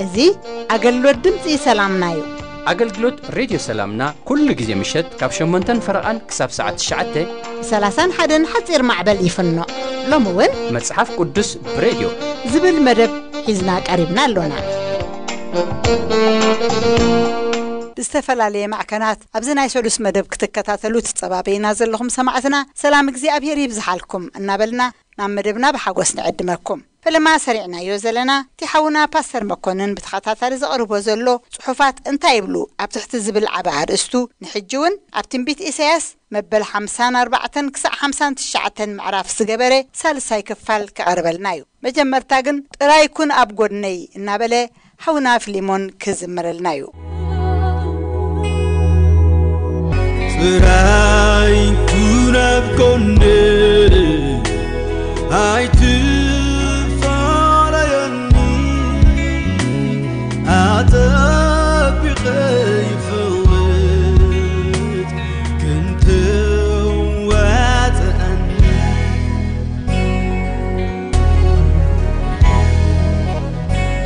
እዚ ኣገልግሎት ድምፂ ሰላምና እዩ። ኣገልግሎት ሬድዮ ሰላምና ኩሉ ግዜ ምሸት ካብ ሸሞንተን ፈረቓን ክሳብ ሰዓት ትሽዓተ። ብ ሰላሳን ሓደን ሓፂር ማዕበል ይፍኖ። ሎሚ እውን መጽሓፍ ቅዱስ ብሬድዮ ዝብል መደብ ሒዝና ቀሪብና ኣሎና። ብዝተፈላለየ ማዕከናት ኣብዚ ናይ ሰሉስ መደብ ክትከታተሉ ትጸባበዩና ዘለኹም ሰማዕትና፣ ሰላም እግዚኣብሔር ይብዝሓልኩም እናበልና ናብ መደብና ብሓጎስ ንዕድመኩም። ፈለማ ሰሪዕናዮ ዘለና፣ እቲ ሓውና ፓስተር መኮንን ብተኸታታሊ ዘቕርቦ ዘሎ ጽሑፋት እንታይ ይብሉ ኣብ ትሕቲ ዝብል ዓቢ ኣርእስቱ፣ ንሕጂ እውን ኣብ ትንቢት ኢሳያስ መበል ሓምሳን ኣርባዕተን ክሳዕ ሓምሳን ትሽዓተን ምዕራፍ ዝገበረ ሳልሳይ ክፋል ክቐርበልና እዩ። መጀመርታ ግን ጥራይ ኩን ኣብ ጎድነይ እናበለ ሓውና ፊሊሞን ክዝምረልና እዩ። ጥራይ ኩን ኣብ ጎነይ፣ ኣይትፋለየኒ፣ ኣጸቢቐ ይፈልጥ ክንትዋጽኣኒ።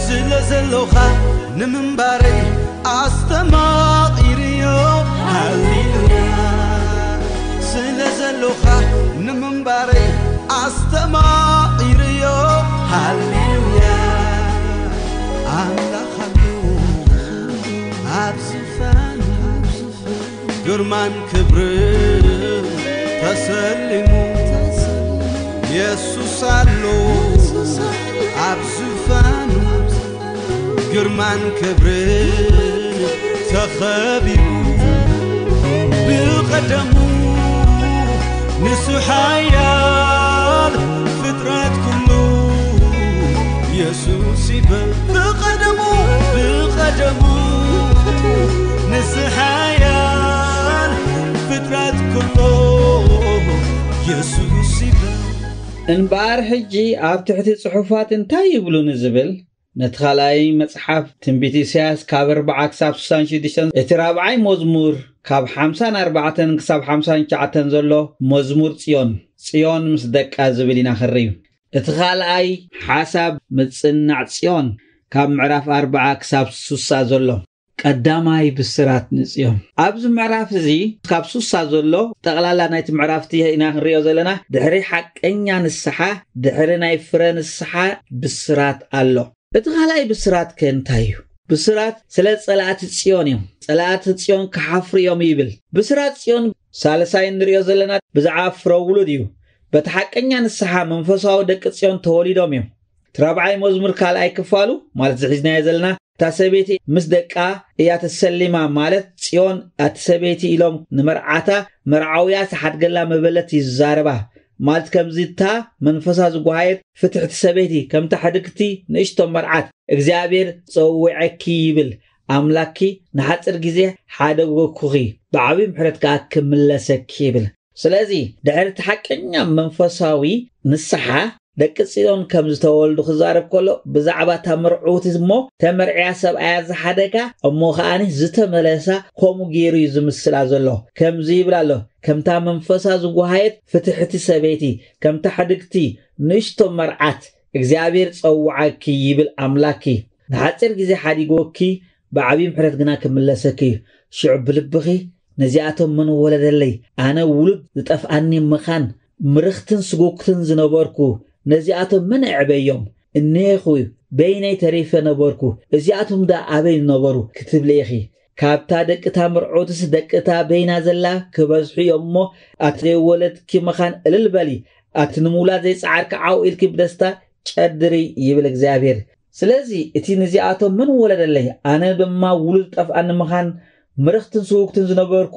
ስለ ዘሎኻ ንምንባረይ ኣስተማቒርዮ፣ ሃሌሉያ። ስለ ዘሎኻ ንምንባረይ ኣስተማቒርዮ፣ ሃሌሉያ። ኣምላኽ ኣሎ ኣብ ዝፋኑ፣ ግርማን ክብርን ተሰሊሙ፣ የሱስ ኣሎ ኣብ ዝፋኑ፣ ግርማን ክብርን ተኸቢቡ፣ ብቐደሙ ንሱ ሓያል፣ ፍጥረት ኩሉ የሱስ ይበል። ብቐደሙ፣ ብቐደሙ ንሱ ሓያል፣ ፍጥረት ኩሉ የሱስ ይበል። እምበኣር ሕጂ ኣብ ትሕቲ ጽሑፋት እንታይ ይብሉ ንዝብል፣ ነቲ ካልኣይ መጽሓፍ ትንቢት ኢሳያስ ካብ ኣርብዓ ክሳብ ስሳን ሽዱሽተን፣ እቲ ራብዓይ መዝሙር ካብ ሓምሳን ኣርባዕተን ክሳብ ሓምሳን ትሽዓተን ዘሎ መዝሙር ጽዮን፣ ጽዮን ምስ ደቃ ዝብል ኢና ክንርኢ። እቲ ካልኣይ ሓሳብ ምጽናዕ ጽዮን ካብ ምዕራፍ ኣርብዓ ክሳብ ሱሳ ዘሎ ቀዳማይ ብስራት ንጽዮን። ኣብዚ ምዕራፍ እዚ ካብ ሱሳ ዘሎ ጠቕላላ ናይቲ ምዕራፍቲ ኢና ክንሪኦ ዘለና። ድሕሪ ሓቀኛ ንስሓ፣ ድሕሪ ናይ ፍረ ንስሓ ብስራት ኣሎ። እቲ ካልኣይ ብስራት ከ እንታይ እዩ? ብስራት ስለ ጸላእቲ ጽዮን እዮም። ጸላእቲ ጽዮን ክሓፍሩ እዮም ይብል። ብስራት ጽዮን ሳልሳይ እንሪኦ ዘለና ብዛዕባ ፍረ ውሉድ እዩ። በቲ ሓቀኛ ንስሓ መንፈሳዊ ደቂ ጽዮን ተወሊዶም እዮም። እቲ ራብዓይ መዝሙር ካልኣይ ክፋሉ፣ ማለት እዚ ሒዝናዮ ዘለና፣ እታ ሰበይቲ ምስ ደቃ እያ ተሰሊማ፣ ማለት ጽዮን ኣቲ ሰበይቲ ኢሎም ንመርዓታ መርዓውያ ዝሓድገላ መበለት ይዛረባ። ማለት ከምዚ እታ መንፈሳ ዝጓሃየት ፍትሕቲ ሰበይቲ ከምታ ሕድግቲ ንእሽቶ መርዓት እግዚኣብሔር ጸዊዐኪ ይብል። ኣምላኪ ንሓጽር ግዜ ሓደጎኩኺ፣ ብዓብዪ ምሕረት ከኣ ክምለሰኪ ይብል። ስለዚ ድሕሪ እቲ ሓቀኛ መንፈሳዊ ንስሓ ደቂ ጽዮን ከም ዝተወልዱ ክዛረብ ከሎ ብዛዕባ እታ መርዑት እሞ ተመርዕያ ሰብኣያ ዝሓደጋ እሞ ከኣኒ ዝተመለሳ ከምኡ ገይሩ እዩ ዝምስላ ዘሎ። ከምዚ ይብል ኣሎ፣ ከምታ መንፈሳ ዝጓሃየት ፍትሕቲ ሰበይቲ፣ ከምታ ሕድግቲ ንእሽቶ መርዓት እግዚኣብሔር ጸውዓኪ ይብል ኣምላኪ። ንሓጺር ግዜ ሓዲጎኪ ብዓብዪ ምሕረት ግና ክምለሰኪ እዩ። ሽዑ ብልብኺ ነዚኣቶም መን ወለደለይ? ኣነ ውሉድ ዝጠፍኣኒ ምኻን ምርኽትን ስጉግትን ዝነበርኩ ነዚኣቶም መን ኣዕበዮም? እኔኹ በይነይ ተሪፈ ነበርኩ፣ እዚኣቶም ደኣ ኣበይ ነበሩ? ክትብሊ ኢኺ። ካብታ ደቂ እታ ምርዑትስ ደቂ እታ በይና ዘላ ክበዝሑ እዮም እሞ፣ ኣቲ ዘይወለድኪ ምኻን እልል በሊ፣ ኣቲ ንምውላድ ዘይጸዓርኪ ዓው ኢልኪ ብደስታ ጨድሪ ይብል እግዚኣብሔር። ስለዚ እቲ ነዚኣቶም መን ወለደለይ፣ ኣነ ድማ ውሉድ ጠፍኣኒ ምኻን ምርኽትን ስውግትን ዝነበርኩ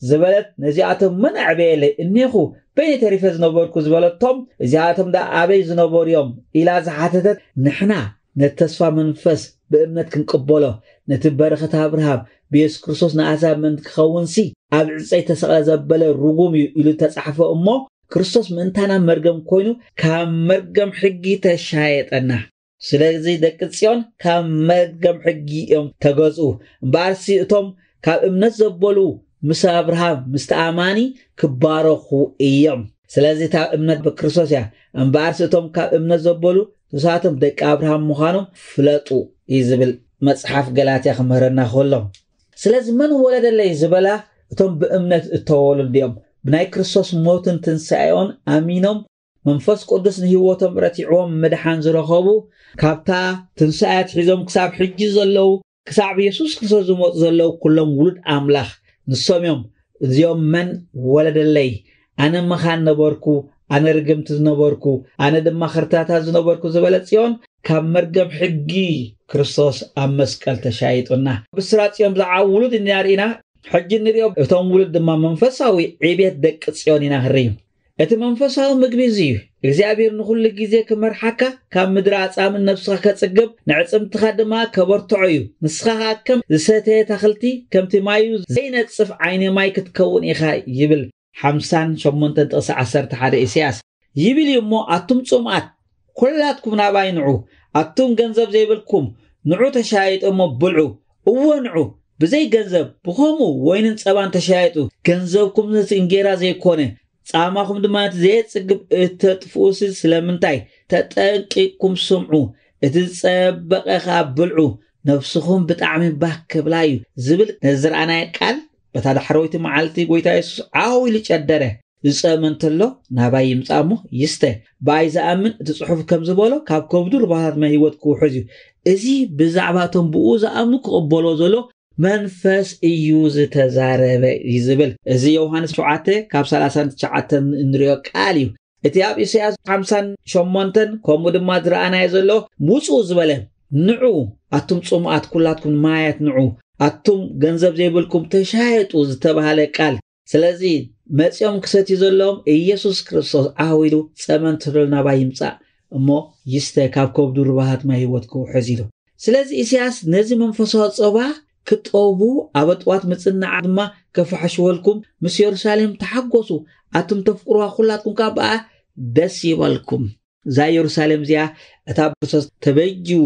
ዝበለት ነዚኣቶም መን ኣዕበየለይ፣ እኔኹ በይነይ ተሪፈ ዝነበርኩ ዝበለቶም እዚኣቶም ደኣ ኣበይ ዝነበሩ እዮም ኢላ ዝሓተተት፣ ንሕና ነቲ ተስፋ መንፈስ ብእምነት ክንቅበሎ፣ ነቲ በረኸት ኣብርሃም ብየሱስ ክርስቶስ ንኣሕዛብ ምእንቲ ክኸውንሲ ኣብ ዕፀይ ተሰቕለ ዘበለ ርጉም እዩ ኢሉ ተጻሕፈ እሞ፣ ክርስቶስ ምእንታና መርገም ኮይኑ ካብ መርገም ሕጊ ተሻየጠና። ስለዚ ደቂ ጽዮን ካብ መርገም ሕጊ እዮም ተገዝኡ። እምበኣርሲ እቶም ካብ እምነት ዘበሉ ምስ ኣብርሃም ምስቲ ኣማኒ ክባረኹ እዮም። ስለዚ እታ እምነት ብክርስቶስ እያ። እምበኣርሲ እቶም ካብ እምነት ዘበሉ ንሳቶም ደቂ ኣብርሃም ምዃኖም ፍለጡ እዩ ዝብል መጽሓፍ ገላትያ ክምህረና ከሎ። ስለዚ መን ወለደለይ ዝበላ እቶም ብእምነት እተወለዱ እዮም። ብናይ ክርስቶስ ሞትን ትንሳኤኦን ኣሚኖም መንፈስ ቅዱስ ንህይወቶም ረቲዕዎም ምድሓን ዝረኸቡ፣ ካብታ ትንሳኤ ኣትሒዞም ክሳብ ሕጂ ዘለዉ፣ ክሳብ የሱስ ክርስቶስ ዝመፁ ዘለዉ ኩሎም ውሉድ ኣምላኽ ንሶም እዮም። እዚኦም መን ወለደለይ፣ ኣነ መኻን ነበርኩ፣ ኣነ ርግምቲ ዝነበርኩ፣ ኣነ ድማ ክርታታ ዝነበርኩ ዝበለ ጽዮን ካብ መርገም ሕጊ ክርስቶስ ኣብ መስቀል ተሻይጡና። ብስራት ጽዮን ብዛዕባ ውሉድ ኢና ርኢና። ሕጂ ንሪኦ እቶም ውሉድ ድማ መንፈሳዊ ዕቤት ደቂ ጽዮን ኢና ክንርኢ። እቲ መንፈሳዊ ምግቢ እዚ እዩ። እግዚኣብሔር ንኹሉ ግዜ ክመርሓካ፣ ካብ ምድሪ ኣጻምን ነብስኻ ከጽግብ፣ ንዕጽምትኻ ድማ ከበርትዖ እዩ። ንስኻ ኸኣ ከም ዝሰተየ ኣታኽልቲ፣ ከምቲ ማዩ ዘይነጽፍ ዓይኒ ማይ ክትከውን ኢኻ ይብል ሓምሳን ሸሞንተን ጥቕሲ ዓሰርተ ሓደ ኢሳያስ። ይብል እዩ እሞ፣ ኣቱም ጽምኣት፣ ኵላትኩም ናባይ ንዑ፣ ኣቱም ገንዘብ ዘይብልኩም፣ ንዑ ተሻየጡ እሞ ብልዑ። እወ ንዑ፣ ብዘይ ገንዘብ፣ ብኸምኡ ወይንን ጸባን ተሻየጡ። ገንዘብኩም ነቲ እንጌራ ዘይኮነ፣ ጻማኹም ድማ ነቲ ዘየጽግብ እተጥፍኡሲ ስለምንታይ? ተጠንቂቕኩም ስምዑ፣ እቲ ዝጸበቐ ኸኣ ብልዑ፣ ነፍስኹም ብጣዕሚ ባህ ክብላ እዩ ዝብል ነዚ ዝረኣናዮ ቃል፣ በታ ዳሕረወይቲ መዓልቲ ጐይታ የሱስ ዓው ኢሉ ጨደረ። ዝጸመ እንተሎ ናባይ ይምጻእ እሞ ይስተ። ብኣይ ዝኣምን እቲ ጽሑፍ ከም ዝበሎ ካብ ከብዱ ሩባታት ማይ ህይወት ክውሕዝ እዩ። እዚ ብዛዕባ እቶም ብኡ ዝኣምኑ ክቕበሎ ዘሎ መንፈስ እዩ ዝተዛረበ እዩ ዝብል። እዚ ዮሃንስ ሸውዓተ ካብ ሰላሳን ትሽዓተን እንሪኦ ቃል እዩ። እቲ ኣብ ኢሳያስ ሓምሳን ሸሞንተን ከምኡ ድማ ዝረኣናዮ ዘሎ ውጹ ዝበለ፣ ንዑ ኣቱም ጽሙኣት ኩላትኩም ማያት ንዑ፣ ኣቱም ገንዘብ ዘይብልኩም ተሻየጡ ዝተባህለ ቃል። ስለዚ መጺኦም ክሰትዩ ዘለዎም ኢየሱስ ክርስቶስ ዓው ኢሉ ጸመ እንተሎ ናባይ ይምጻእ እሞ ይስተ፣ ካብ ከብዱ ሩባታት ማይ ህይወት ክውሕዝ ኢሉ። ስለዚ ኢሳያስ ነዚ መንፈሳዊ ጸባ ክጠቡ ኣብ ኣጥዋት ምጽናዓ ድማ ከፋሕሽወልኩም ምስ የሩሳሌም ተሓጎሱ፣ ኣቱም ተፍቅርዋ ኩላትኩም ከኣ ብኣ ደስ ይበልኩም። እዛ የሩሳሌም እዚኣ እታ ብክርስቶስ ተበጅዩ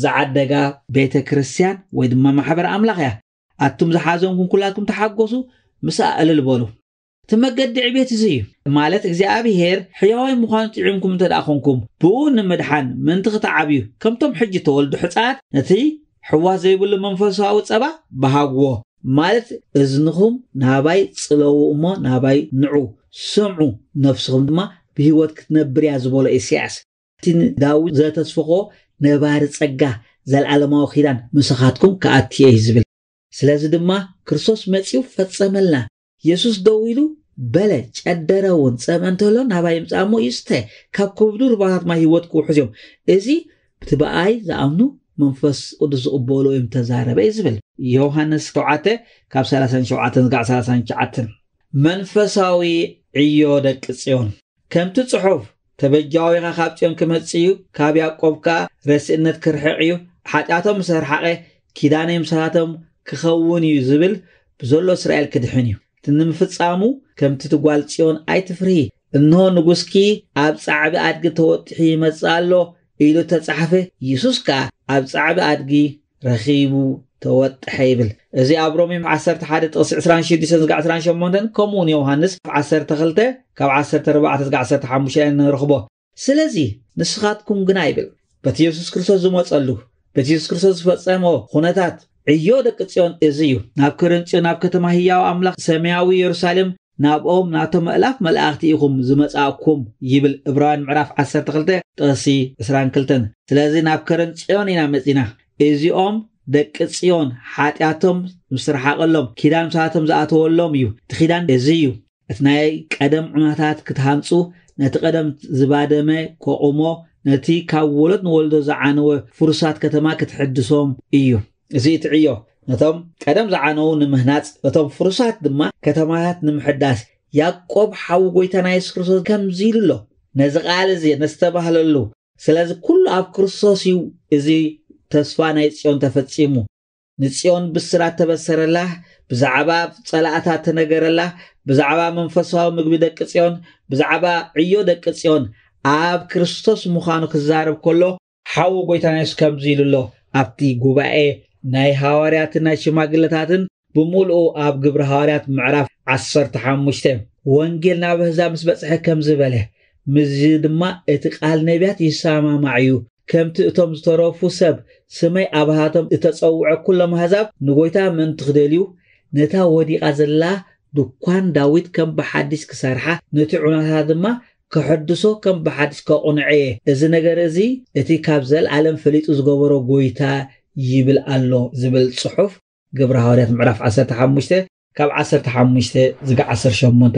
ዝዓደጋ ቤተ ክርስቲያን ወይ ድማ ማሕበር ኣምላኽ እያ። ኣቱም ዝሓዘንኩም ኩላትኩም ተሓጎሱ፣ ምስኣ እልል በሉ። እቲ መገዲ ዕቤት እዚ እዩ። ማለት እግዚኣብሔር ሕያዋይ ምዃኑ ጥዒምኩም እንተ ደኣ ኾንኩም፣ ብኡ ንምድሓን ምእንቲ ክትዓብዩ፣ ከምቶም ሕጂ ተወልዱ ሕፃናት ነቲ ሕዋስ ዘይብሉ መንፈሳዊ ጸባ በሃግዎ። ማለት እዝንኹም ናባይ ጽለዉ እሞ ናባይ ንዑ፣ ስምዑ፣ ነፍስኹም ድማ ብህይወት ክትነብር እያ ዝበሎ ኢሳያስ። እቲ ንዳዊት ዘተስፈኾ ነባሪ ጸጋ፣ ዘልዓለማዊ ኪዳን ምሳኻትኩም ክኣቲ እየ እዩ ዝብል። ስለዚ ድማ ክርስቶስ መጺኡ ፈጸመልና። የሱስ ደው ኢሉ በለ፣ ጨደረ እውን፣ ጸምአ እንተሎ ናባይ ይምጻእ እሞ ይስተ፣ ካብ ከብዱ ሩባታት ማይ ህይወት ክውሕዝ እዮም። እዚ እቲ ብኣይ ዝኣምኑ መንፈስ ቅዱስ ዝቕበሉ እዮም ተዛረበ እዩ ዝብል። ዮሃንስ ሸውዓተ ካብ ሰላሳን ሸውዓተን ዝጋዕ ሰላሳን ትሽዓተን። መንፈሳዊ ዕዮ ደቂ ጽዮን። ከምቲ ጽሑፍ፣ "ተበጃዊ ኸኣ ካብ ጽዮን ክመጽእ እዩ፣ ካብ ያዕቆብ ከኣ ረስእነት ክርሕቕ እዩ፣ ሓጢኣቶም ምስ ኣርሓቐ፣ ኪዳነይ ምሳታቶም ክኸውን እዩ" ዝብል፣ ብዘሎ እስራኤል ክድሕን እዩ። እቲ ንምፍጻሙ፣ ከምቲ እቲ ጓል ጽዮን ኣይትፍርሂ፣ እንሆ ንጉስኪ ኣብ ጻዕቢ ኣድጊ ተወጢሑ ይመጽእ ኣሎ ኢሉ እተጻሕፈ፣ የሱስ ከኣ ኣብ ጻዕቢ ኣድጊ ረኺቡ ተወጥሐ ይብል። እዚ ኣብ ሮሜ ዓሰርተ ሓደ ጥቕሲ ዕስራን ሽዱሽተን ዝጋዕ ዕስራን ሸሞንተን፣ ከምኡ እውን ዮሃንስ ዓሰርተ ክልተ ካብ ዓሰርተ ኣርባዕተ ዝጋዕ ዓሰርተ ሓሙሽተ ንረኽቦ። ስለዚ ንስኻትኩም ግና ይብል፣ በቲ የሱስ ክርስቶስ ዝመጸሉ፣ በቲ የሱስ ክርስቶስ ዝፈጸሞ ኩነታት ዕዮ ደቂ ጽዮን እዚ እዩ። ናብ ከረን ጽዮን፣ ናብ ከተማ ህያው ኣምላኽ ሰማያዊ የሩሳሌም፣ ናብኦም ናቶም ኣእላፍ መላእኽቲ ኢኹም ዝመጻእኩም ይብል ዕብራውያን ምዕራፍ ዓሰርተ ክልተ ጥቕሲ ዕስራን ክልተን። ስለዚ ናብ ከረን ጽዮን ኢና መጺና። እዚኦም ደቂ ጽዮን ሓጢኣቶም ምስ ረሓቐሎም፣ ኪዳን ምሳቶም ዝኣተወሎም እዩ። እቲ ኪዳን እዚ እዩ። እቲ ናይ ቀደም ዑናታት ክትሃንጹ፣ ነቲ ቀደም ዝባደመ ከቑሞ፣ ነቲ ካብ ወለድ ንወለዶ ዝዓነወ ፍሩሳት ከተማ ክትሕድሶም እዩ። እዚ እቲ ዕዮ፣ ነቶም ቀደም ዝዓነዉ ንምህናጽ፣ ነቶም ፍሩሳት ድማ ከተማታት ንምሕዳስ። ያዕቆብ ሓው ጎይታና የሱስ ክርስቶስ ከምዚ ኢሉ ኣሎ፣ ነዚ ቃል እዚ ነስተባህለሉ፣ ስለዚ ኩሉ ኣብ ክርስቶስ እዩ እዚ ተስፋ ናይ ጽዮን ተፈጺሙ። ንጽዮን ብስራት ተበሰረላ፣ ብዛዕባ ጸላእታ ተነገረላ፣ ብዛዕባ መንፈሳዊ ምግቢ ደቂ ጽዮን፣ ብዛዕባ ዕዮ ደቂ ጽዮን ኣብ ክርስቶስ ምዃኑ ክዛረብ ከሎ፣ ሓዉ ጎይታና የሱስ ከምዚ ኢሉ ኣሎ። ኣብቲ ጉባኤ ናይ ሃዋርያትን ናይ ሽማግለታትን ብምሉኡ ኣብ ግብሪ ሃዋርያት ምዕራፍ ዓሰርተ ሓሙሽተ፣ ወንጌል ናብ ኣህዛብ ምስ በጽሐ ከምዚ በለ፣ ምስዚ ድማ እቲ ቃል ነቢያት ይሰማማዕ እዩ። ከምቲ እቶም ዝተረፉ ሰብ ስመይ ኣብሃቶም እተጸውዐ ኩሎም ኣህዛብ ንጎይታ ምእንቲ ክደልዩ፣ ነታ ወዲቓ ዘላ ድኳን ዳዊት ከም ብሓዲስ ክሰርሓ፣ ነቲ ዑናታት ድማ ክሕድሶ ከም ብሓዲስ ከቑንዐ እየ። እዚ ነገር እዚ እቲ ካብ ዘለኣለም ፈሊጡ ዝገበሮ ጎይታ ይብል ኣሎ ዝብል ጽሑፍ ግብሪ ሃዋርያት ምዕራፍ ዓሰርተ ሓሙሽተ ካብ ዓሰርተ ሓሙሽተ ዝጋ ዓሰርተ ሸሞንተ።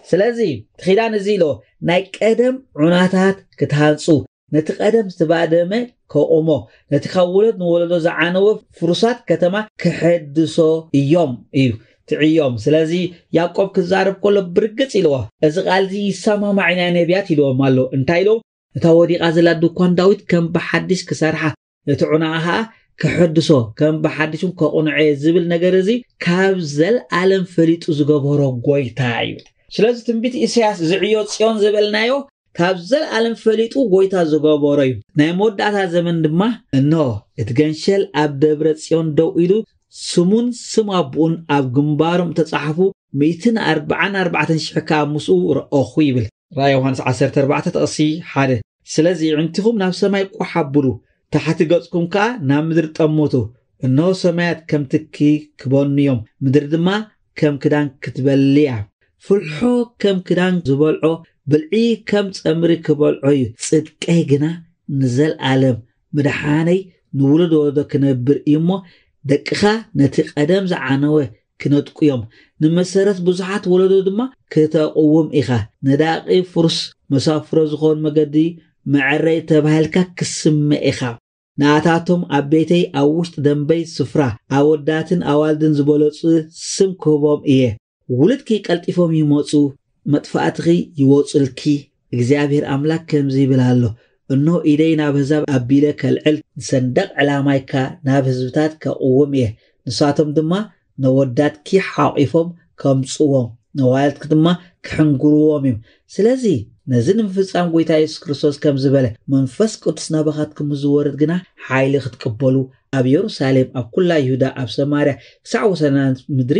ስለዚ እቲ ኪዳን እዚ ኢሎ ናይ ቀደም ዑናታት ክትሃንጹ፣ ነቲ ቀደም ዝተባደመ ከቑሞ፣ ነቲ ካብ ወለድ ንወለዶ ዝዓነወ ፍሩሳት ከተማ ክሕድሶ እዮም እዩ ትዕዮም። ስለዚ ያዕቆብ ክዛረብ ከሎ ብርግጽ ኢልዎ፣ እዚ ቃል እዚ ይሰማማዕ ናይ ነቢያት ኢልዎም ኣሎ። እንታይ ኢልዎም? እታ ወዲቓ ዘላ ድኳን ዳዊት ከም ብሓዲሽ ክሰርሓ፣ ነቲ ዑናኣ ኸኣ ክሕድሶ፣ ከም ብሓዲሹን ከቑንዐ ዝብል ነገር እዚ ካብ ዘልኣለም ፈሊጡ ዝገበሮ ጎይታ እዩ። ስለዚ ትንቢት ኢሳያስ ዝዕዮ ጽዮን ዝበልናዮ ካብ ዘልኣለም ፈሊጡ ጎይታ ዝገበሮ እዩ። ናይ መወዳእታ ዘመን ድማ እንሆ እቲ ገንሸል ኣብ ደብረ ጽዮን ደው ኢሉ ስሙን ስም ኣቦኡን ኣብ ግንባሮም ተጻሕፉ ሚእትን ኣርባዓን ኣርባዕተን ሽሕ ከኣ ምስኡ ረኣኹ ይብል። ራእይ ዮሃንስ ዓሰርተ ኣርባዕተ ጥቕሲ ሓደ። ስለዚ ኣዕንትኹም ናብ ሰማይ ቋሕ ኣብሉ፣ ታሕቲ ገጽኩም ከኣ ናብ ምድሪ ጠምቱ። እንሆ ሰማያት ከም ትኪ ክበኑ እዮም፣ ምድሪ ድማ ከም ክዳን ክትበሊ እያ። ፍልሖ ከም ክዳን ዝበልዖ፣ ብልዒ ከም ጸምሪ ክበልዖ እዩ። ጽድቀይ ግና ንዘልኣለም፣ ምድሓነይ ንውሉድ ወለዶ ክነብር እዩ እሞ፣ ደቅኻ ነቲ ቀደም ዝዓነወ ክነጥቁ እዮም። ንመሰረት ብዙሓት ወለዶ ድማ ክተቕውም ኢኻ። ነዳቒ ፍሩስ መሳፍሮ ዝኾን መገዲ መዐረይ ተባሂልካ ክስመ ኢኻ። ንኣታቶም ኣብ ቤተይ ኣብ ውሽጢ ደንበይ ስፍራ ኣወዳትን ኣዋልድን ዝበለጹ ስም ክህቦም እየ። ውሉድኪ ቀልጢፎም ይመጹ፣ መጥፋእትኺ ይወጹልኪ። እግዚኣብሔር ኣምላክ ከምዚ ይብል ኣሎ፣ እንሆ ኢደይ ናብ ኣህዛብ ኣቢለ ከልዕል፣ ንሰንደቕ ዕላማይካ ናብ ህዝብታት ከቕውም እየ። ንሳቶም ድማ ነወዳትኪ ሓቒፎም ከምጽዎም፣ ነዋልድኪ ድማ ክሕንግርዎም እዮም። ስለዚ ነዚ ንምፍጻም ጎይታ የሱስ ክርስቶስ ከም ዝበለ፣ መንፈስ ቅዱስ ናባኻትኩም ምስ ዝወርድ ግና ሓይሊ ክትቅበሉ፣ ኣብ የሩሳሌም፣ ኣብ ኩላ ይሁዳ፣ ኣብ ሰማርያ፣ ክሳዕ ወሰናት ምድሪ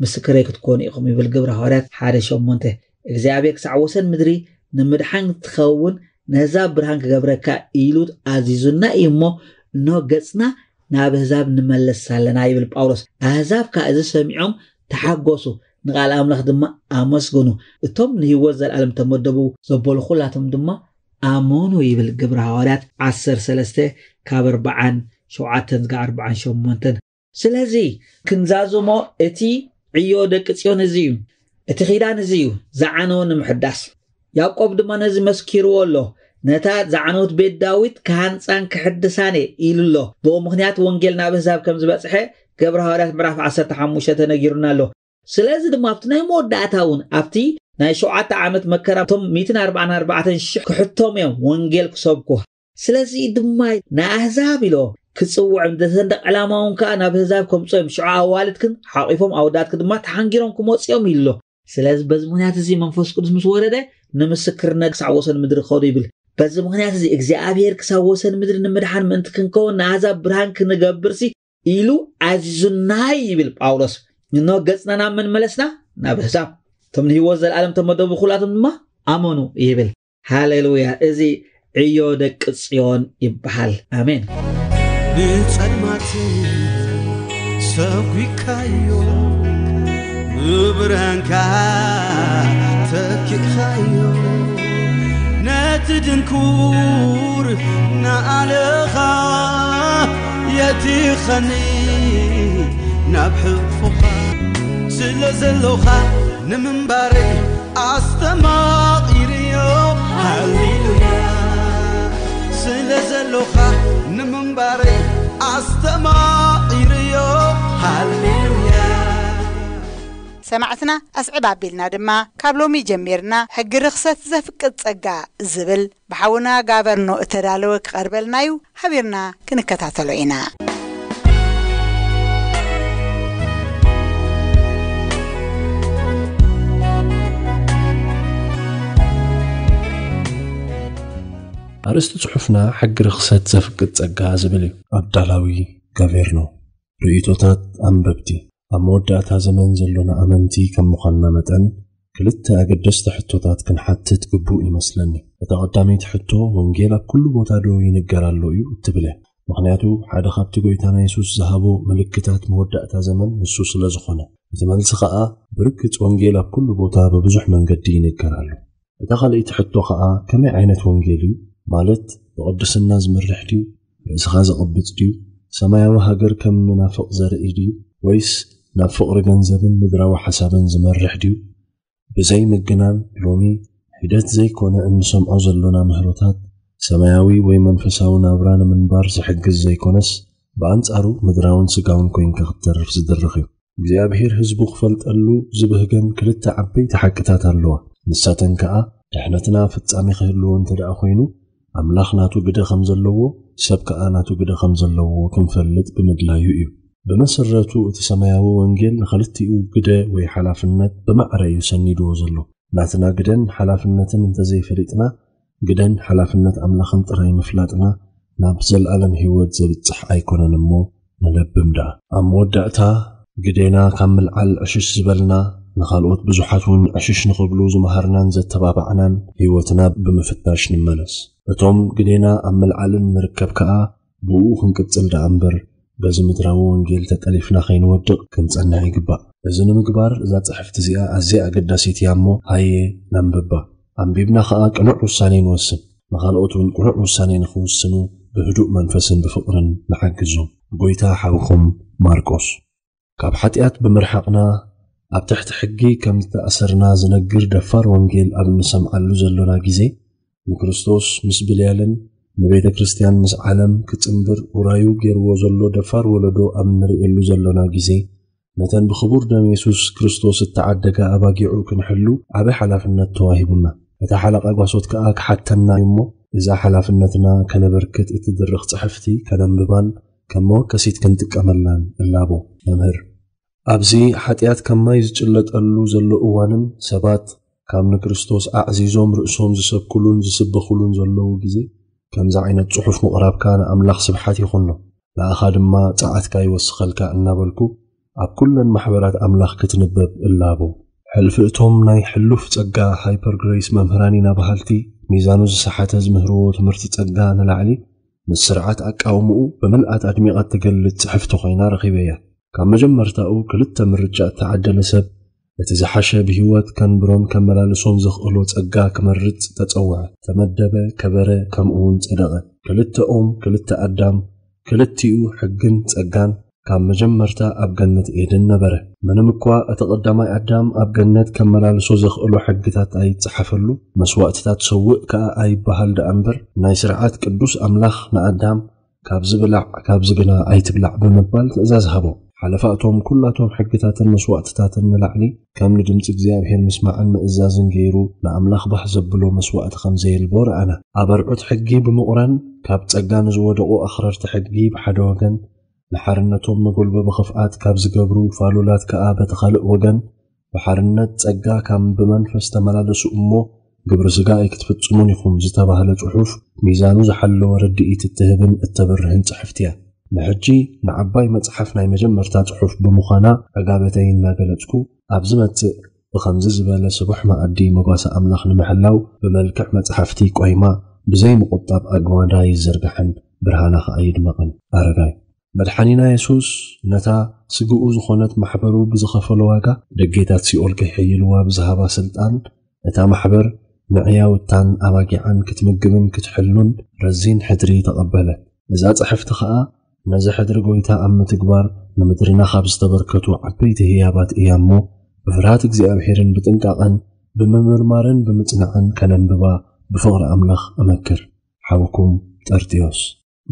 ምስክረይ ክትኮኑ ኢኹም ይብል ግብሪ ሃዋርያት ሓደ ሸሞንተ። እግዚኣብሔር ክሳዕ ወሰን ምድሪ ንምድሓን ትኸውን ነዛ ብርሃን ክገብረካ ኢሉ ኣዚዙና እዩ እሞ፣ እንሆ ገጽና ናብ ኣህዛብ ንመለስ ኣለና ይብል ጳውሎስ። ኣህዛብ ከኣ እዚ ሰሚዖም ተሓጎሱ፣ ንቓል ኣምላኽ ድማ ኣመስግኑ። እቶም ንህይወት ዘለኣለም ተመደቡ ዘበሉ ኩላቶም ድማ ኣመኑ ይብል ግብሪ ሃዋርያት ዓሰርተ ሰለስተ ካብ ኣርባዓን ሸውዓተን ዝጋ ኣርባዓን ሸሞንተን። ስለዚ ክንዛዝሞ እቲ ዕዮ ደቂ ጽዮን እዚ እዩ፣ እቲ ኺዳን እዚ እዩ ዝዓነወ ንምሕዳስ። ያዕቆብ ድማ ነዚ መስኪርዎ ኣሎ። ነታ ዝዓነወት ቤት ዳዊት ክሃንጻን ክሕድሳን እየ ኢሉ ኣሎ። ብኡ ምኽንያት ወንጌል ናብ ኣህዛብ ከም ዝበጽሐ ግብሪ ሃዋርያት ምዕራፍ ዓሰርተ ሓሙሽተ ተነጊሩና ኣሎ። ስለዚ ድማ ኣብቲ ናይ መወዳእታ እውን ኣብቲ ናይ ሸውዓተ ዓመት መከራ እቶም ሚእትን ኣርባዓን ኣርባዕተን ሽሕ ክሕቶም እዮም ወንጌል ክሰብኩ። ስለዚ ድማ ንኣህዛብ ኢሎ ክጽውዖም፣ ንሰንደቕ ዕላማ እውን ከኣ ናብ ኣህዛብ ከምጽኦም፣ ሽዑ ኣዋልድክን ሓቒፎም ኣወዳትክ ድማ ተሓንጊሮም ክመጹ እዮም ኢሉ ኣሎ። ስለዚ በዚ ምኽንያት እዚ መንፈስ ቅዱስ ምስ ወረደ ንምስክርነት ክሳብ ወሰን ምድሪ ክኸዱ ይብል። በዚ ምኽንያት እዚ እግዚኣብሔር ክሳብ ወሰን ምድሪ ንምድሓን ምእንቲ ክንከውን ንኣህዛብ ብርሃን ክንገብርሲ ኢሉ ኣዚዙና ይብል ጳውሎስ። እንሆ ገጽና ናብ መን መለስና? ናብ ኣህዛብ። እቶም ንህይወት ዘለኣለም ተመደቡ ኩላቶም ድማ ኣመኑ ይብል። ሃሌሉያ! እዚ ዕዮ ደቂ ጽዮን ይበሃል። ኣሜን። ንጸልማት ሰጒግካዮ፣ ብብርሃንካ ተኪእካዮ። ነቲ ድንኩር ንኣለኻ የእቲኸኒ ናብ ሕቕፎኻ። ስለ ዘሎኻ ንምንባረይ ኣስተማቒርዮ። ሃሌሉያ። ስለ ዘሎኻ ንምንባረይ ኣስተማቒርዮ። ሃሌሉያ። ሰማዕትና ኣስዕብ ኣቢልና ድማ ካብ ሎሚ ጀሚርና ሕጊ ርኽሰት ዘፍቅድ ጸጋ ዝብል ብሓውና ጋበርኖ እተዳለወ ክቐርበልና እዩ። ሓቢርና ክንከታተሎ ኢና። ኣርእስቲ ጽሑፍና ሕጊ ርኽሰት ዘፍቅድ ጸጋ ዝብል እዩ። ኣዳላዊ ጋቬርኖ። ርእይቶታት ኣንበብቲ። ኣብ መወዳእታ ዘመን ዘሎና ኣመንቲ ከም ምዃንና መጠን፣ ክልተ ኣገደስቲ ሕቶታት ክንሓትት ግቡእ ይመስለኒ። እታ ቀዳመይቲ ሕቶ፣ ወንጌል ኣብ ኩሉ ቦታ ዶ ይንገር ኣሎ እዩ እትብል እያ። ምኽንያቱ፣ ሓደ ካብቲ ጎይታና የሱስ ዝሃቦ ምልክታት መወዳእታ ዘመን ንሱ ስለ ዝኾነ። እቲ መልሲ ኸኣ፣ ብርግጽ ወንጌል ኣብ ኩሉ ቦታ ብብዙሕ መንገዲ ይንገር ኣሎ። እታ ካልኣይቲ ሕቶ ኸኣ፣ ከመይ ዓይነት ወንጌል እዩ? ማለት፣ ብቕድስና ዝመርሕ ድዩ? ርእስኻ ዘቕብጽ ድዩ? ሰማያዊ ሃገር ከም ንናፍቕ ዘርኢ ድዩ? ወይስ ናብ ፍቕሪ ገንዘብን ምድራዊ ሓሳብን ዝመርሕ ድዩ? ብዘይ ምግናን፣ ሎሚ ሒደት ዘይኮነ እንሰምዖ ዘሎና ምህሮታት፣ ሰማያዊ ወይ መንፈሳዊ ናብራ ንምንባር ዝሕግዝ ዘይኮነስ፣ ብኣንጻሩ ምድራውን ስጋውን ኮይንካ ክትተርፍ ዝድርኽ እዩ። እግዚኣብሔር ህዝቡ ክፈልጠሉ ዝብህገን ክልተ ዓበይቲ ሓቅታት ኣለዋ። ንሳተን ከኣ፣ ድሕነትና ፍጻሜ ክህልዎ እንተ ደኣ ኮይኑ፣ ኣምላኽ ናቱ ግደ ከም ዘለዎ፣ ሰብ ከኣ ናቱ ግደ ከም ዘለዎ ክንፈልጥ ብምድላዩ እዩ። ብመሰረቱ፣ እቲ ሰማያዊ ወንጌል ንኽልቲኡ ግደ ወይ ሓላፍነት ብማዕረ እዩ ሰኒድዎ ዘሎ። ናትና ግደን ሓላፍነትን እንተዘይፈሊጥና፣ ግደን ሓላፍነት ኣምላኽን ጥራይ ምፍላጥና ናብ ዘልኣለም ህይወት ዘብጽሕ ኣይኮነን እሞ፣ ንለብም ደኣ። ኣብ መወዳእታ፣ ግዴና ካብ ምልዓል ዕሽሽ ዝበልና፣ ንኻልኦት ብዙሓት እውን ዕሽሽ ንኽብሉ ዝመሃርናን ዘተባባዕናን ህይወትና ብምፍታሽ ንመለስ። እቶም ግዴና ኣብ ምልዓልን ንርከብ ከኣ፣ ብኡ ክንቅጽል ደኣ እምበር፣ በዚ ምድራዊ ወንጌል ተጠሊፍና ከይንወድቕ ክንጸንዕ ይግባእ። እዚ ንምግባር፣ እዛ ጽሕፍቲ እዚኣ ኣዝያ ኣገዳሲት እያ እሞ፣ ሃየ ነንብባ። ኣንቢብና ኸኣ ቅኑዕ ውሳኔ ንወስን። ንኻልኦት እውን ቅኑዕ ውሳኔ ንኽውስኑ ብህዱእ መንፈስን ብፍቕርን ንሓግዞም። ጎይታ ሓውኩም ማርቆስ። ካብ ሓጢኣት ብምርሓቕና፣ ኣብ ትሕቲ ሕጊ ከም ዝተኣሰርና ዝነግር ደፋር ወንጌል ኣብ እንሰምዓሉ ዘሎና ግዜ፣ ንክርስቶስ ምስ ብልያልን ንቤተ ክርስቲያን ምስ ዓለም ክጽንብር ውራዩ ገይርዎ ዘሎ ደፋር ወለዶ ኣብ እንርእየሉ ዘሎና ግዜ፣ ነተን ብኽቡር ደም የሱስ ክርስቶስ እተዓደጋ ኣባጊዑ ክንሕሉ ዓቢ ሓላፍነት ተዋሂቡና። እታ ሓለቓ ጓሶት ከኣ ክሓተና እዩ እሞ፣ እዛ ሓላፍነትና ከነበርክት እትድርኽ ጽሕፍቲ ከነንብባን ከም መወከሲት ክንጥቀመላን እላቦ። መምህር፣ ኣብዚ ሓጢኣት ከም ማይ ዝጭለጠሉ ዘሎ እዋንን ሰባት ካብ ንክርስቶስ ኣዕዚዞም ርእሶም ዝሰብኩሉን ዝስበኹሉን ዘለዉ ግዜ፣ ከምዚ ዓይነት ጽሑፍ ምቕራብካ ንኣምላኽ ስብሓት ይኹኖ፣ ንኣኻ ድማ ጸዓትካ ይወስኸልካ እናበልኩ፣ ኣብ ኩለን ማሕበራት ኣምላኽ ክትንበብ እላቦ። ሕልፊ እቶም ናይ ሕሉፍ ጸጋ ሃይፐር ግሬስ መምህራን ኢና በሃልቲ፣ ሚዛኑ ዝሰሓተ ዝምህርዎ ትምህርቲ ጸጋ ንላዕሊ፣ ምስ ስርዓት ኣቃውምኡ ብምልኣት ኣድሚቓ እትገልጽ ጽሕፍቲ ኮይና ረኺበያ። ካብ መጀመርታኡ ክልተ ምርጫ እተዓደለ ሰብ፣ እቲ ዝሓሸ ብህይወት ከንብሮን ከመላልሶን ዘኽእሎ ጸጋ ክመርጽ ተጸውዐ፣ ተመደበ፣ ከበረ፣ ከምኡውን ጸደቐ። ክልተኦም፣ ክልተ ኣዳም፣ ክልቲኡ ሕግን ጸጋን ካብ መጀመርታ ኣብ ገነት ኤድን ነበረ። ምንም እኳ እቲ ቀዳማይ ኣዳም ኣብ ገነት ከመላልሶ ዘኽእሎ ሕግታት ኣይጸሓፈሉ፣ መስዋእትታት ሰውእ ከኣ ኣይበሃል ደኣ እምበር፣ ናይ ስርዓት ቅዱስ ኣምላኽ ንኣዳም፣ "ካብዚ ብላዕ፣ ካብዚ ግና ኣይትብላዕ" ብምባል ትእዛዝ ሃቦ። ሓለፋ እቶም ኩላቶም ሕግታትን መስዋእትታትን ንላዕሊ፣ ከም ንድምጺ እግዚኣብሔር ምስማዕን ምእዛዝን ገይሩ ንኣምላኽ ባህ ዘብሎ መስዋእቲ ከም ዘየልቦ ረኣና። ኣብ ኣርዑት ሕጊ ብምቑራን፣ ካብ ጸጋ ንዝወደቑ ኣኽረርቲ ሕጊ ብሓደ ወገን፣ ንሓርነቶም መጎልበቢ ክፍኣት ካብ ዝገብሩ ፋሉላት ከኣ በቲ ካልእ ወገን፣ ብሓርነት ጸጋ ከም ብመንፈስ ተመላለሱ እሞ ግብሪ ሥጋ ኣይክትፍጽሙን ኢኹም ዝተባህለ ጽሑፍ ሚዛኑ ዝሓለወ ርድኢት እትህብን እተብርህን ጽሕፍቲ እያ። ንሕጂ ንዓባይ መጽሓፍ ናይ መጀመርታ ጽሑፍ ብምዃና ዕጋበተይ እናገለጽኩ፣ ኣብ ዝመጽእ ብኸምዚ ዝበለ ስቡሕ መኣዲ መጓሰ ኣምላኽ ንምሕላው ብመልክዕ መጽሓፍቲ ቆይማ ብዘይ ምቑጣብ ኣግማዳ ይዘርግሐን ብርሃና ኸኣ ይድመቕን። ኣረጋይ። መድሓኒና የሱስ ነታ ስግኡ ዝኾነት ማሕበሩ ብዝኸፈሎ ዋጋ ደጌታት ሲኦል ከይሕይልዋ ብዝሃባ ስልጣን፣ እታ ማሕበር ንዕያውታን ኣባጊዓን ክትምግብን ክትሕሉን ረዚን ሕድሪ ተቐበለ። እዛ ጽሕፍቲ ኸኣ ነዚ ሕድሪ ጎይታ ኣብ ምትግባር ንምድርና ካብ ዝተበርከቱ ዓበይቲ ህያባት እያ እሞ፣ ብፍርሃት እግዚኣብሔርን ብጥንቃቐን ብምምርማርን ብምጽናዕን ከነንብባ ብፍቕሪ ኣምላኽ እመክር። ሓውኩም ጠርጥዮስ።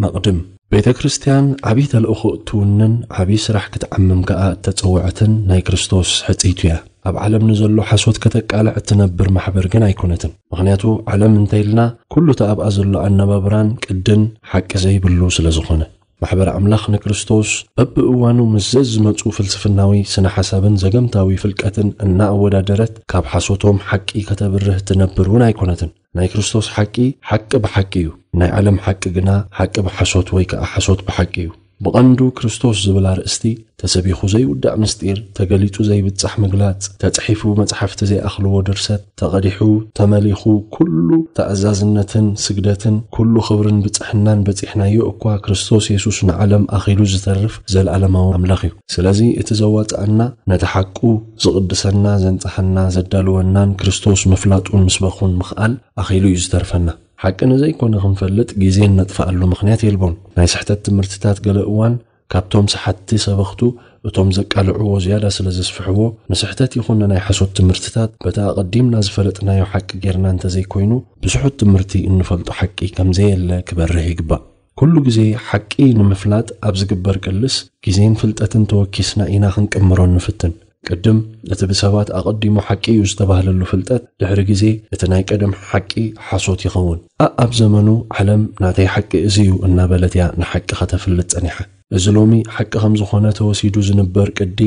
መቕድም። ቤተ ክርስቲያን ዓብዪ ተልእኾ እትውንን ዓብዪ ስራሕ ክትዓምም ከኣ እተጸውዐትን ናይ ክርስቶስ ሕጽይቱ እያ። ኣብ ዓለም ንዘሎ ሓሶት ከተቃልዕ እትነብር ማሕበር ግን ኣይኮነትን። ምኽንያቱ ዓለም እንተ ኢልና ኩሉ እቲ ኣብኣ ዘሎ ኣነባብራን ቅድን ሓቂ ዘይብሉ ስለ ዝኾነ። ማሕበር ኣምላኽ ንክርስቶስ በብእዋኑ ምስ ዘዝመጹ ፍልስፍናዊ ስነ ሓሳብን ዘገምታዊ ፍልቀትን እናኣወዳደረት ካብ ሓሶቶም ሓቂ ከተብርህ እትነብር እውን ኣይኮነትን። ናይ ክርስቶስ ሓቂ ሓቂ ብሓቂ እዩ። ናይ ዓለም ሓቂ ግና ሓቂ ብሓሶት ወይ ከኣ ሓሶት ብሓቂ እዩ። ብቐንዱ ክርስቶስ ዝብል ኣርእስቲ ተሰቢኹ ዘይውዳእ ምስጢር፣ ተገሊጹ ዘይብጻሕ ምግላጽ፣ ተጽሒፉ መጽሓፍቲ ዘይኣኽልዎ ድርሰት፣ ተቐዲሑ፣ ተመሊኹ፣ ኩሉ ተኣዛዝነትን ስግደትን፣ ኩሉ ክብርን ብጽሕናን በጺሕናዮ እኳ፣ ክርስቶስ የሱስ ንዓለም ኣኺሉ ዝተርፍ ዘለኣለማዊ ኣምላኽ እዩ። ስለዚ እቲ ዘዋጽኣና፣ ነቲ ሓቁ ዝቕድሰና፣ ዘንጽሓና፣ ዘዳልወናን ክርስቶስ ምፍላጡን ምስበኹን ምኽኣል ኣኺሉ እዩ ዝተርፈና። ሓቂ ንዘይኮነ ክንፈልጥ ግዜ እነጥፍኣሉ ምኽንያት የልቦን። ናይ ስሕተት ትምህርትታት ገለ እዋን ካብቶም ሰሓትቲ ሰበኽቱ እቶም ዘቃልዕዎ ዝያዳ ስለ ዘስፍሕዎ፣ ንስሕተት ይኹን ንናይ ሓሶት ትምህርትታት በቲ ኣቐዲምና ዝፈለጥናዮ ሓቂ ጌርና እንተዘይኮይኑ፣ ብስሑት ትምህርቲ እንፈልጦ ሓቂ ከም ዘየለ ክበርህ ይግባእ። ኩሉ ግዜ ሓቂ ንምፍላጥ ኣብ ዝግበር ቅልስ፣ ግዜን ፍልጠትን ተወኪስና ኢና ክንቅምሮ እንፍትን። ቅድም እቲ ብሰባት ኣቐዲሙ ሓቂ እዩ ዝተባህለሉ ፍልጠት፣ ድሕሪ ግዜ እቲ ናይ ቀደም ሓቂ ሓሶት ይኸውን። ኣኣብ ዘመኑ ዓለም ናተይ ሓቂ እዚ እዩ እናበለት እያ ንሓቂ ከተፍልጥ ጸኒሓ። እዚ ሎሚ ሓቂ ከም ዝኾነ ተወሲዱ ዝንበር ቅዲ፣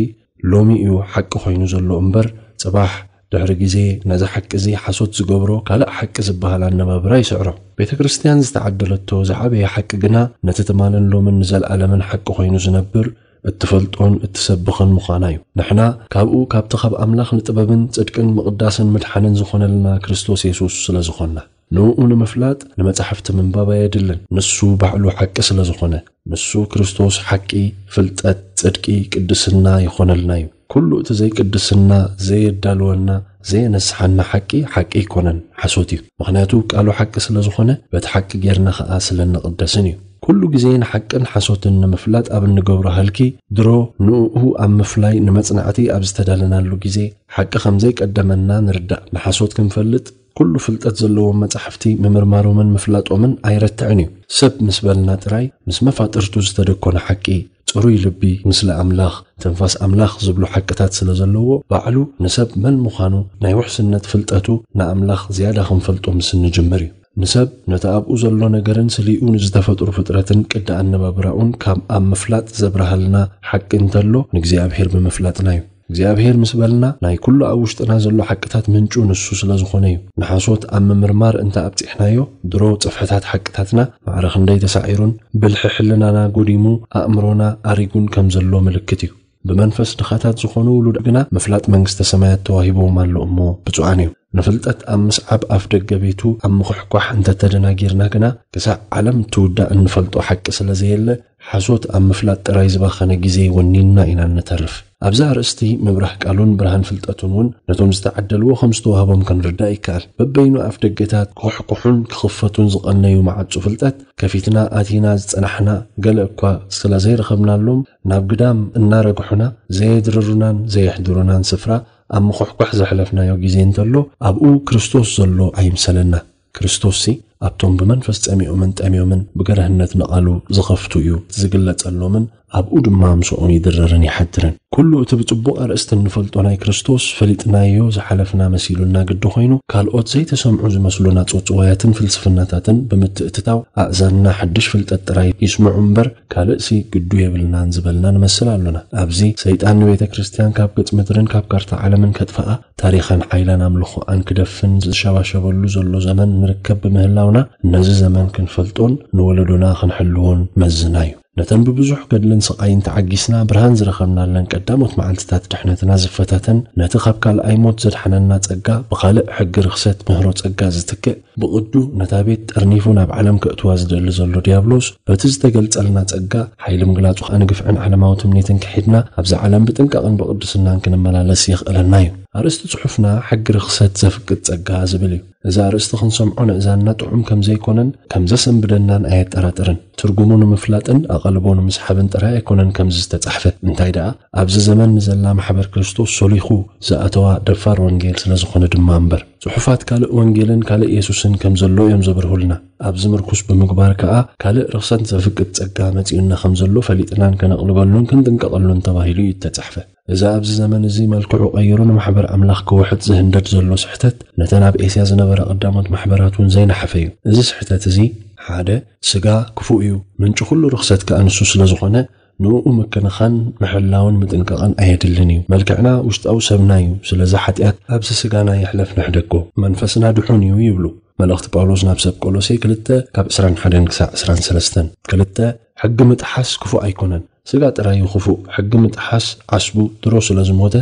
ሎሚ እዩ ሓቂ ኮይኑ ዘሎ እምበር፣ ጽባሕ ድሕሪ ግዜ ነዚ ሓቂ እዚ ሓሶት ዝገብሮ ካልእ ሓቂ ዝበሃል ኣነባብራ ይስዕሮ። ቤተ ክርስቲያን ዝተዓደለቶ ዝዓበየ ሓቂ ግና፣ ነቲ ትማልን ሎምን ንዘለኣለምን ሓቂ ኮይኑ ዝነብር፣ እትፈልጦን እትሰብኽን ምዃና እዩ። ንሕና ካብኡ፣ ካብቲ ካብ ኣምላኽ ንጥበብን ጽድቅን ምቕዳስን ምድሓንን ዝኾነልና ክርስቶስ የሱስ ስለ ዝኾንና፣ ንእኡ ንምፍላጥ ንመጻሕፍቲ ምንባብ ኣየድልን። ንሱ ባዕሉ ሓቂ ስለ ዝኾነ፣ ንሱ ክርስቶስ ሓቂ፣ ፍልጠት፣ ጽድቂ፣ ቅድስና ይኾነልና እዩ። ኩሉ እቲ ዘይቅድስና፣ ዘየዳልወና፣ ዘየነስሓና ሓቂ፣ ሓቂ ኣይኮነን፣ ሓሶት እዩ። ምኽንያቱ ቃሉ ሓቂ ስለ ዝኾነ፣ በቲ ሓቂ ጌርና ኸኣ ስለ እንቕደስን እዩ። ኩሉ ግዜ ንሓቅን ሓሶትን ንምፍላጥ ኣብ እንገብሮ ሃልኪ፣ ድሮ ንእኡ ኣብ ምፍላይ ንመጽናዕቲ ኣብ ዝተዳለናሉ ግዜ፣ ሓቂ ከም ዘይቀደመና ንርዳእ። ንሓሶት ክንፈልጥ፣ ኩሉ ፍልጠት ዘለዎም መጻሕፍቲ ምምርማሮምን ምፍላጦምን ኣይረትዕን እዩ። ሰብ ምስ በልና ጥራይ፣ ምስ መፋጥርቱ ዝተደኮነ ሓቂ፣ ጽሩይ ልቢ፣ ምስሊ ኣምላኽ፣ ትንፋስ ኣምላኽ ዝብሉ ሓቅታት ስለ ዘለዎ፣ ባዕሉ ንሰብ መን ምዃኑ ናይ ውሕስነት ፍልጠቱ ንኣምላኽ ዝያዳ ክንፈልጦ ምስ እንጅምር እዩ። ንሰብ ነቲ ኣብኡ ዘሎ ነገርን ስሊኡ ንዝተፈጥሩ ፍጥረትን ቅዲ ኣነባብራኡን ካብ ኣብ ምፍላጥ ዘብርሃልና ሓቂ እንተሎ፣ ንእግዚኣብሔር ብምፍላጥና እዩ። እግዚኣብሔር ምስ በልና፣ ናይ ኩሉ ኣብ ውሽጥና ዘሎ ሓቅታት ምንጩ ንሱ ስለ ዝኾነ እዩ። ንሓሶት ኣብ ምምርማር እንተ ኣብጺሕናዮ፣ ድሮ ጽፍሕታት ሓቅታትና ማዕረ ክንደይ ተሳዒሩን ብልሒ ሕልናና ጎዲሙ፣ ኣእምሮና ኣሪጉን ከም ዘሎ ምልክት እዩ። ብመንፈስ ድኻታት ዝኾኑ ውሉድ ግና ምፍላጥ መንግስተ ሰማያት ተዋሂብዎም ኣሎ እሞ ብፁዓን እዮም። ንፍልጠት ኣብ ምስዓብ ኣፍ ደገ ቤቱ ኣብ ምኹሕኳሕ እንተተደናጊርና ግና፣ ክሳዕ ዓለም እትውዳእ እንፈልጦ ሓቂ ስለ ዘየለ፣ ሓሶት ኣብ ምፍላጥ ጥራይ ዝባኸነ ግዜ ወኒንና ኢና እንተርፍ። ኣብዚ ኣርእስቲ ምብራህ ቃሉን ብርሃን ፍልጠቱን እውን ነቶም ዝተዓደልዎ ከም ዝተዋህቦም ክንርዳእ ይከኣል። በበይኑ ኣፍ ደገታት ክኹሕኩሑን ክኽፈቱን ዝቐነዩ መዓጹ ፍልጠት ከፊትና ኣቲና ዝጸናሕና፣ ገለ እኳ ስለ ዘይረኸብናሎም ናብ ግዳም እናረግሑና ዘየድርሩናን ዘየሕድሩናን ስፍራ ኣብ ምኹሕኳሕ ዘሕለፍናዮ ግዜ እንተሎ ኣብኡ ክርስቶስ ዘሎ ኣይምሰለና። ክርስቶስሲ ኣብቶም ብመንፈስ ጸሚኦምን ጠምዮምን ብገርህነት ንቓሉ ዝኸፍቱ እዩ ዝግለጸሎምን ኣብኡ ድማ ምሳኦም ይድረርን ይሓድርን። ኩሉ እቲ ብጽቡቕ ኣርእስቲ እንፈልጦ ናይ ክርስቶስ ፈሊጥናዮ ዝሓለፍና መሲሉና ግዲ ኮይኑ፣ ካልኦት ዘይተሰምዑ ዝመስሉና ጽውጽዋያትን ፍልስፍናታትን ብምትእትታው ኣእዛንና ሓድሽ ፍልጠት ጥራይ ይስምዑ እምበር ካልእሲ ግዱ የብልናን ዝበልና ንመስል ኣሎና። ኣብዚ ሰይጣን ንቤተ ክርስቲያን ካብ ገጽ ምድርን ካብ ካርታ ዓለምን ከጥፍኣ ታሪኻን ሓይላን ኣምልኾኣን ክደፍን ዝሸባሸበሉ ዘሎ ዘመን ንርከብ ብምህላውና፣ ነዚ ዘመን ክንፈልጦን ንወለዶና ክንሕልዎን መዝና እዩ። ነተን ብብዙሕ ገድልን ስቓይን ተዓጊስና ብርሃን ዝረኸብናለን ቀዳሞት መዓልትታት ድሕነትና ዝፈታተን፣ ነቲ ካብ ካልኣይ ሞት ዘድሓነና ጸጋ ብኻልእ ሕጊ ርኽሰት ምህሮ ጸጋ ዝትክእ፣ ብቕዱ ነታ ቤት ጠርኒፉ ናብ ዓለም ከእትዋ ዝደሊ ዘሎ ዲያብሎስ፣ በቲ ዝተገልጸልና ጸጋ፣ ሓይሊ ምግላጹ ከኣ ንግፍዕን ዓለማዊ ትምኒትን ክሒድና፣ ኣብዛ ዓለም ብጥንቃቕን ብቕድስናን ክንመላለስ የኽእለና እዩ። ኣርእስቲ ጽሑፍና ሕጊ ርኽሰት ዘፍቅድ ጸጋ ዝብል እዩ። እዚ ኣርእስቲ ክንሰምዖ ንእዛንና ጥዑም ከም ዘይኮነን ከም ዘሰንብደናን ኣየጠራጥርን። ትርጉሙ ንምፍላጥን ኣቓልቦ ንምስሓብን ጥራይ ኣይኮነን ከምዚ ዝተጻሕፈ። እንታይ ደኣ፣ ኣብዚ ዘመን ንዘላ ማሕበር ክርስቶስ ሶሊኹ ዝኣተዋ ደፋር ወንጌል ስለ ዝኾነ ድማ እምበር። ጽሑፋት ካልእ ወንጌልን ካልእ የሱስን ከም ዘሎ እዮም ዘብርሁልና። ኣብዚ ምርኩስ ብምግባር ከኣ፣ ካልእ ርኽሰት ዘፍቅድ ጸጋ መጺኡና ከም ዘሎ ፈሊጥናን ከነቕልበሉን ክንጥንቀቐሉን ተባሂሉ እዩ እተጻሕፈ። እዚ ኣብዚ ዘመን እዚ መልክዑ ቀይሩ ንማሕበር ኣምላኽ ክውሕጥ ዝህንደድ ዘሎ ስሕተት፣ ነተን ኣብ ኤስያ ዝነበራ ቀዳሞት ማሕበራት እውን ዘይነሓፈ እዩ። እዚ ስሕተት እዚ፣ ሓደ፣ ስጋ ክፉእ እዩ፣ ምንጪ ኩሉ ርኽሰት ከኣ ንሱ ስለ ዝኾነ፣ ንእኡ ምክንኻን፣ ምሕላውን ምጥንቃቕን ኣየድልን እዩ። መልክዕና ውሽጣዊ ሰብና እዩ፣ ስለዚ ሓጢኣት ኣብዚ ስጋና ይሕለፍ ንሕደጎ፣ መንፈስና ድሑን እዩ ይብሉ። መልእኽቲ ጳውሎስ ናብ ሰብ ቆሎሴ ክልተ ካብ ዕስራን ሓደን ክሳዕ ዕስራን ሰለስተን። ክልተ፣ ሕጊ ምጥሓስ ክፉእ ኣይኮነን፣ ስጋ ጥራይ እዩ ክፉእ። ሕጊ ምጥሓስ ዓስቡ ድሮ ስለ ዝሞተ፣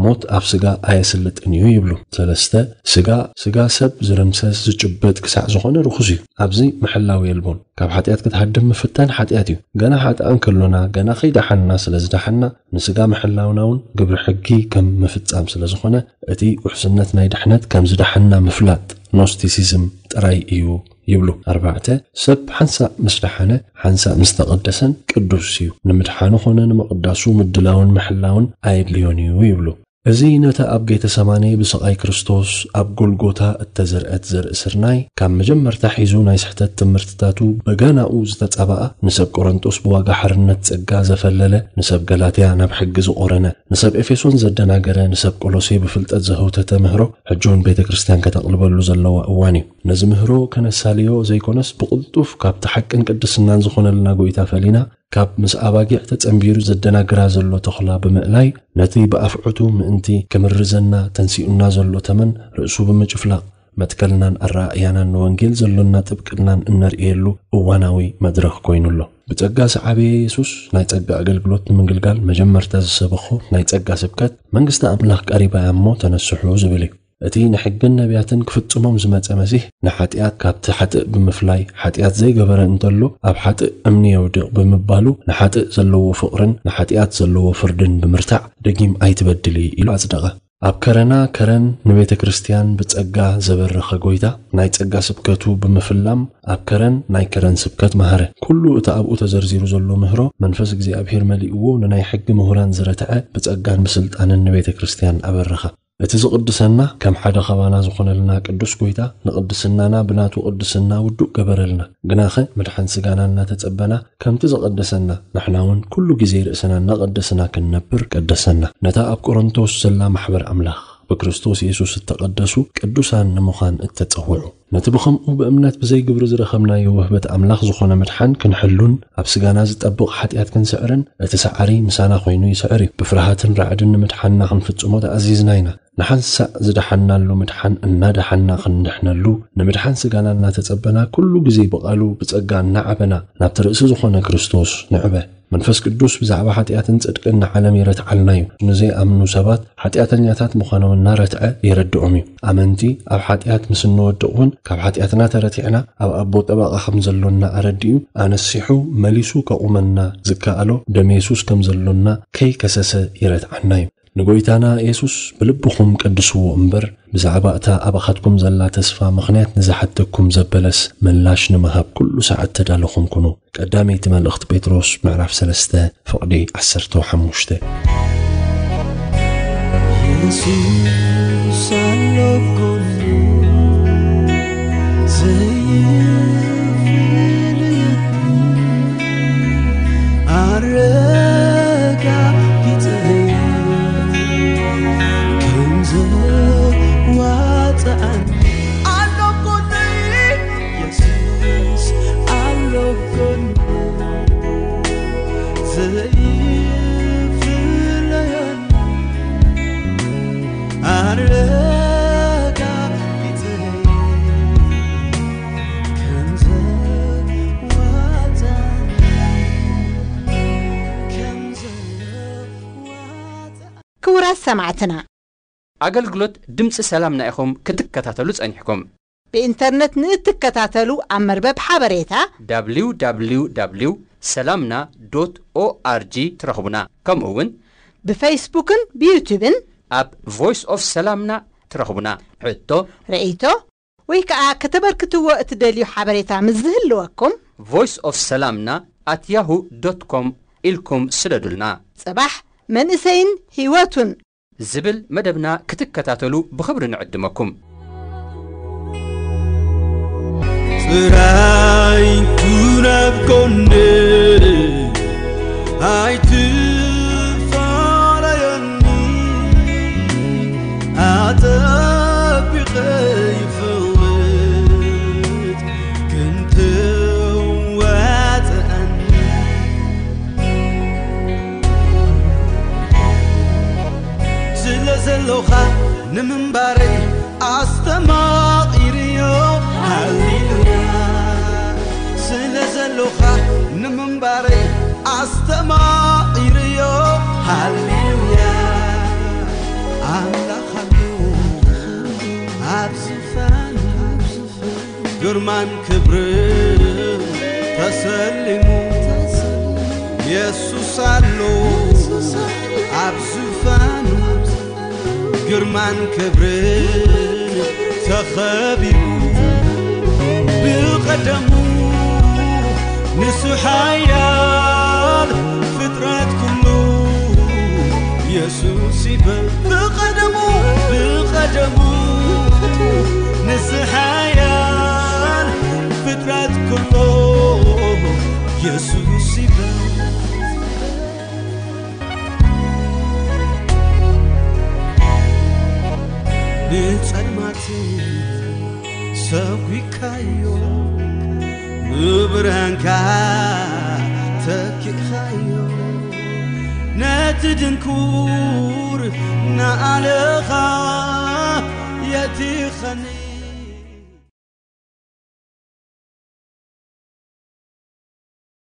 ሞት ኣብ ስጋ ኣየስልጥን እዩ ይብሉ። ሰለስተ፣ ስጋ፣ ስጋ ሰብ ዝርምሰስ ዝጭበጥ ክሳዕ ዝኾነ ርኹስ እዩ። ኣብዚ ምሕላው የልቦን። ካብ ሓጢኣት ክትሃድም ምፍታን ሓጢኣት እዩ። ገና ሓጥኣን ከሎና፣ ገና ከይደሓንና ስለ ዝደሓንና፣ ንስጋ ምሕላውና እውን ግብሪ ሕጊ ከም ምፍጻም ስለ ዝኾነ፣ እቲ ውሕስነት ናይ ድሕነት ከም ዝደሓንና ምፍላጥ፣ ኖስቲሲዝም ጥራይ እዩ ይብሉ። ኣርባዕተ፣ ሰብ ሓንሳእ ምስ ደሓነ፣ ሓንሳእ ምስ ተቐደሰን ቅዱስ እዩ። ንምድሓኑ ኾነ ንምቕዳሱ ምድላውን ምሕላውን ኣየድልዮን እዩ ይብሉ። እዚ ነታ ኣብ ጌተሰማኔ ብስቓይ ክርስቶስ ኣብ ጎልጎታ እተዘርአት ዘርኢ ስርናይ፣ ካብ መጀመርታ ሒዙ ናይ ስሕተት ትምህርትታቱ በገናኡ ዝተጻብኣ፣ ንሰብ ቆሮንጦስ ብዋጋ ሓርነት ጸጋ ዘፈለለ፣ ንሰብ ገላትያ ናብ ሕጊ ዝቖረነ፣ ንሰብ ኤፌሶን ዘደናገረ፣ ንሰብ ቆሎሴ ብፍልጠት ዘህውተተ ምህሮ፣ ሕጂ እውን ቤተ ክርስቲያን ከተቕልበሉ ዘለዋ እዋን እዩ። ነዚ ምህሮ ከነሳልዮ ዘይኮነስ፣ ብቕልጡፍ ካብቲ ሓቅን ቅድስናን ዝኾነልና ጎይታ ፈሊና፣ ካብ ምስ ኣባጊዕ ተጸንቢሩ ዘደናግራ ዘሎ ተኹላ ብምእላይ፣ ነቲ ብኣፍዑቱ ምእንቲ ክምርዘና ተንሲኡና ዘሎ ተመን ርእሱ ብምጭፍላቕ፣ መትከልናን ኣረኣእያናን ንወንጌል ዘሎና ጥብቅናን እነርእየሉ እዋናዊ መድረኽ ኮይኑ ኣሎ። ብጸጋ ዝዓበየ የሱስ ናይ ጸጋ ኣገልግሎት ንምግልጋል መጀመርታ ዝሰበኾ ናይ ጸጋ ስብከት፣ መንግስቲ ኣምላኽ ቀሪባ እያ እሞ ተነስሑ ዝብል እዩ። እቲ ንሕግን ነቢያትን ክፍጽሞም ዝመጸ መሲህ፣ ንሓጢኣት ካብቲ ሓጥእ ብምፍላይ፣ ሓጢኣት ዘይገበረ እንተሎ ኣብ ሓጥእ እምኒ የውድቕ ብምባሉ፣ ንሓጥእ ዘለዎ ፍቕርን ንሓጢኣት ዘለዎ ፍርድን ብምርታዕ፣ ደጊም ኣይትበድሊ ኢሉ ኣጽደቐ። ኣብ ከረና ከረን ንቤተ ክርስቲያን ብጸጋ ዘበረኸ ጎይታ፣ ናይ ጸጋ ስብከቱ ብምፍላም ኣብ ከረን ናይ ከረን ስብከት መሃረ። ኩሉ እቲ ኣብኡ ተዘርዚሩ ዘሎ ምህሮ መንፈስ እግዚኣብሔር መሊእዎ ንናይ ሕጊ ምሁራን ዝረትዐ፣ ብጸጋን ብስልጣንን ንቤተ ክርስቲያን ኣበረኻ። እቲ ዝቕድሰና ከም ሓደ ኻባና ዝኾነልና ቅዱስ ጎይታ ንቕድስናና ብናቱ ቅድስና ውዱእ ገበረልና። ግናኸ ምድሓን ስጋና እናተጸበና ከምቲ ዝቐደሰና ንሕና እውን ኩሉ ግዜ ርእስና እናቐደስና ክንነብር ቀደሰና። ነታ ኣብ ቆሮንቶስ ዘላ ማሕበር ኣምላኽ ብክርስቶስ የሱስ እተቐደሱ ቅዱሳን ንምዃን እተጸውዑ። ነቲ ብኸምኡ ብእምነት ብዘይ ግብሪ ዝረኸብናዮ ውህበት ኣምላኽ ዝኾነ ምድሓን ክንሕሉን ኣብ ስጋና ዝጠብቕ ሓጢኣት ክንስዕርን እቲ ሰዓሪ ምሳና ኮይኑ ይስዕር እዩ። ብፍርሃትን ራዕድን ንምድሓንና ክንፍጽሞ ተኣዚዝና ኢና። ንሓንሳእ ዝደሓንናሉ ምድሓን እናደሓንና ክንድሕነሉ፣ ንምድሓን ስጋና እናተጸበና ኩሉ ግዜ ብቓሉ ብጸጋ እናዓበና ናብቲ ርእሲ ዝኾነ ክርስቶስ ንዕበ። መንፈስ ቅዱስ ብዛዕባ ሓጢኣትን ጽድቅን ንዓለም የረትዓልና እዩ። ንዘይኣምኑ ሰባት ሓጢኣተኛታት ምዃኖም እናረትዐ የረድኦም እዩ። ኣመንቲ ኣብ ሓጢኣት ምስ እንወድቕ እውን ካብ ሓጢኣትና ተረቲዕና ኣብ ኣቦ ጠበቓ ከም ዘሎና ኣረዲኡ ኣነሲሑ መሊሱ ከቑመና ዝከኣሎ ደም የሱስ ከም ዘሎና ከይከሰሰ የረትዓና እዩ። ንጎይታና የሱስ ብልብኹም ቀድስዎ እምበር፣ ብዛዕባ እታ ኣባኻትኩም ዘላ ተስፋ ምኽንያት ንዝሓተኩም ዘበለስ ምላሽ ንምሃብ ኩሉ ሰዓት ተዳለኹም ኩኑ። ቀዳመይቲ መልእኽቲ ጴጥሮስ ምዕራፍ ሰለስተ ፍቕዲ ዓሰርተ ሓሙሽተ። የሱስ ኣሎ ጎኒ ዘይፍለየኒ ኣረጋጊጸ ከም ዘዋጽኣኒ ኣሎ ጎነይ የሱስ ኣሎ ጎነይ ዘይፍለየኒ ኣረጋጊጸ ከም ዘዋጽኣኒ ከም ዘዋጽኣኒ ክቡራት ሰማዕትና፣ ኣገልግሎት ድምፂ ሰላምና ኢኹም ክትከታተሉ ጸኒሕኩም። ብኢንተርነት ንእትከታተሉ ኣብ መርበብ ሓበሬታ www ሰላምና ዶት ኦኣርጂ ትረኽቡና። ከምኡ እውን ብፌስቡክን ብዩቱብን ኣብ ቮይስ ኦፍ ሰላምና ትረኽቡና። ሕቶ፣ ርእይቶ ወይ ከዓ ከተበርክትዎ እትደልዩ ሓበሬታ ምስ ዝህልወኩም ቮይስ ኦፍ ሰላምና ኣት ያሁ ዶት ኮም ኢልኩም ስደዱልና። ጽባሕ መንእሰይን ህይወቱን ዝብል መደብና ክትከታተሉ ብኽብሪ ንዕድመኩም። ጥራይ ኩን ኣብ ጎነይ ኣይትፋለየኒ ኣጠቢቐ ይፈልጥ ክንትዋፅኣኒ ስለ ዘለኻ ንምንባረይ ኣስተማቒርዮ ምንባረይ ኣስተማቒርዮ። ሃሌሉያ ኣምላኽ ኣሎ ኣብ ዝፋኑ፣ ግርማን ክብርን ተሰሊሙ። የሱስ ኣሎ ኣብ ዝፋኑ፣ ግርማን ክብርን ተኸቢቡ። ብቐደሙ ንሱ ሓያል፣ ፍጥረት ኩሉ የሱስ ይበል። ብቐደሙ ብቐደሙ ንሱ ሓያል፣ ፍጥረት ኩሉ የሱስ ይበል። ንጸልማት ሰጒካዮ፣ ብብርሃንካ ተኪኻዮ። ነቲ ድንኩር ንዓለኻ የቲኸኒ።